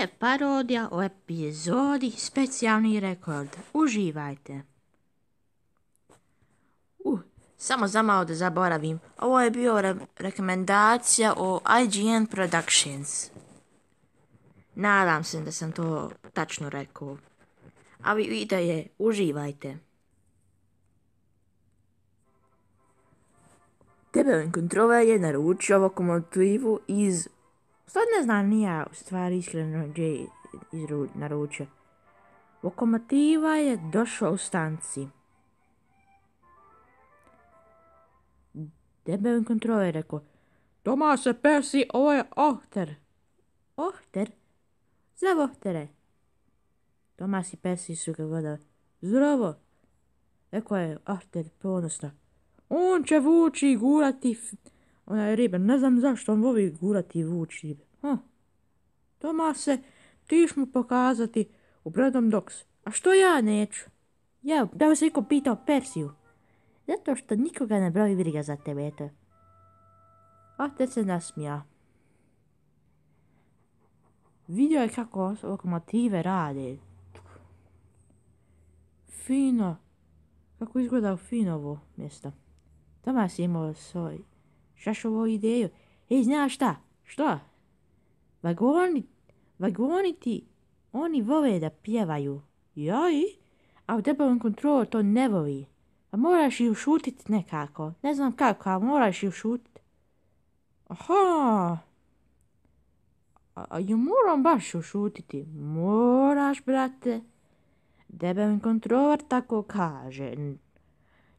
je parodija o epizodi Specijalni rekord. Uživajte. Samo za malo da zaboravim. Ovo je bio rekomendacija o IGN Productions. Nadam se da sam to tačno rekao. A vi vidite, uživajte. Debeli kontroler je naručio lokomotivu iz... Sad ne znam ni ja, u stvari iskreno gdje je naručio. Lokomotiva je došla u stanci. Debeli kontroler je rekao: Tomase Percy, ovo je Ohter. Ohter? Zdravo, Ohtere. Tomas i Percy su ga gledali. Zdravo, rekao je Ohter ponosno. On će vući i gurati onaj ribe. Ne znam zašto on voli gurati i vući ribe. Tomase, ti ćeš mu pokazati u Bredom Docks. A što ja neću? Ja, da vas niko pitao Persiju. Zato što nikoga ne broji briga za tebe, eto. Ohter se nasmija. Vidio je kako lokomotive rade. Fino. Kako izgleda fino ovo mjesto. Tomas je imao svoj šašovu ideju. Ej, znaš šta? Što? Vagoni ti, oni vole da pjevaju. Joj? A u debelom kontrolu to ne voli. A moraš ih ušutit nekako. Ne znam kako, ali moraš ih ušutit. Aha. A ju moram baš ušutiti. Moraš, brate. Debelin kontroler tako kaže.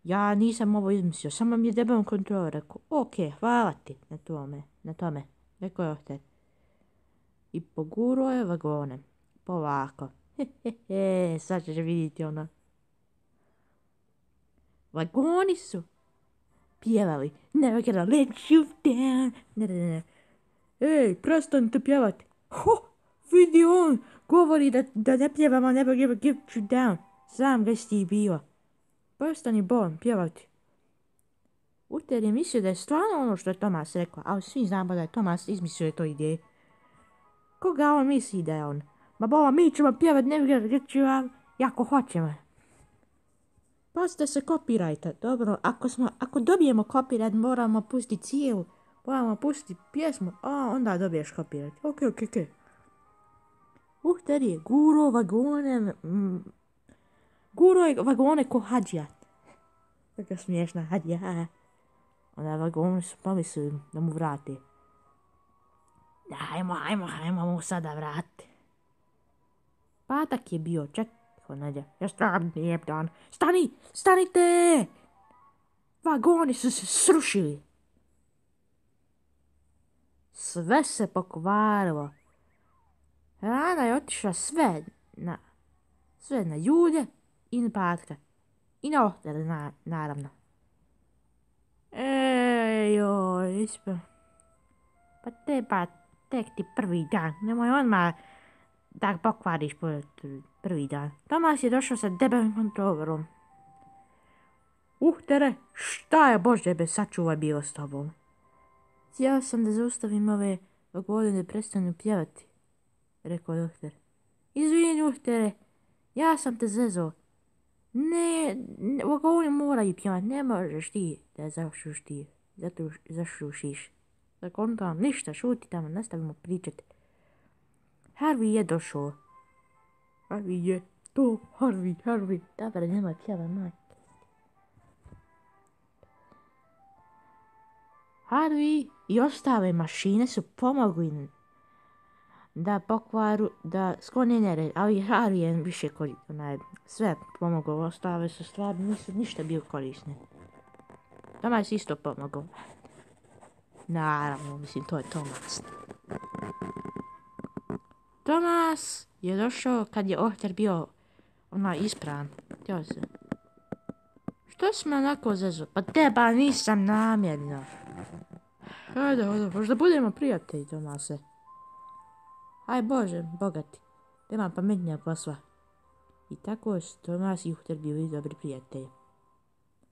Ja nisam ovo izmislio, samo mi je debelin kontroler rekao. Ok, hvala ti na tome. Rekao je Ohter. I pogurao je vagone. Polako. Sad ćeš vidjeti ono. Vagoni su pjevali. Never gonna let you down. Ne. Ej, prestanite pjevati. Vidi on, govori da ne pjevamo, never give you down. Sam ga si bio. Prestani Bon pjevati. Ohter je mislio da je stvarno ono što je Tomas rekao, ali svi znamo da je Tomas izmislio to ideju. Koga on misli da je on? Ma bova, mi ćemo pjevati, never get you down, jako hoćemo. Pazite se kopirajte, dobro, ako dobijemo copyright moramo pustiti cijelu. Moramo pustiti pjesmu, a onda dobiješ copyright. Ok. Ohter je guro vagone ko hađija. Tako smiješna hađija. Onda vagoni su pomislili da mu vrati. Ajmo mu sada vrati. Patak je bio, čekaj, Nadja. Nije dan. Stanite! Vagoni su se srušili. Sve se pokvarilo. Rana je otišla sve na ljude i na Patka. I na Ohtera, naravno. Joj, pa tek ti prvi dan. Nemoj odmah da pokvariš prvi dan. Tomas je došao sa debelim kontrolerom. Ohtere, šta je Bože be sačuvaj bilo s tobom? Htio sam da zaustavim ove vagone da prestanu pjevati, rekao je Ohter. Izvini, Ohtere, ja sam te zezao. Ne, vagoni moraju pjevati, ne možeš ti da zašušiš. Zakontam, ništa, šuti tamo, nastavimo pričati. Harvey je došao. Harvey. Dobar, nemoj pjeva, majke. Harvey i ostale mašine su pomogli da sklone nered, ali Harvey je više sve pomogao, ostale su stvari, nisu ništa bio korisne. Tomas isto pomogao. Naravno, mislim, to je Tomas. Tomas je došao kad je Ohter bio ispravan. Htio se. Što si me onako zezao? Pa teba nisam namjerno. Hajde, možda budemo prijatelji, Tomase. Aj Bože, bogati. Nema pametnija posla. I tako su Tomas i Ohter bili dobri prijatelji.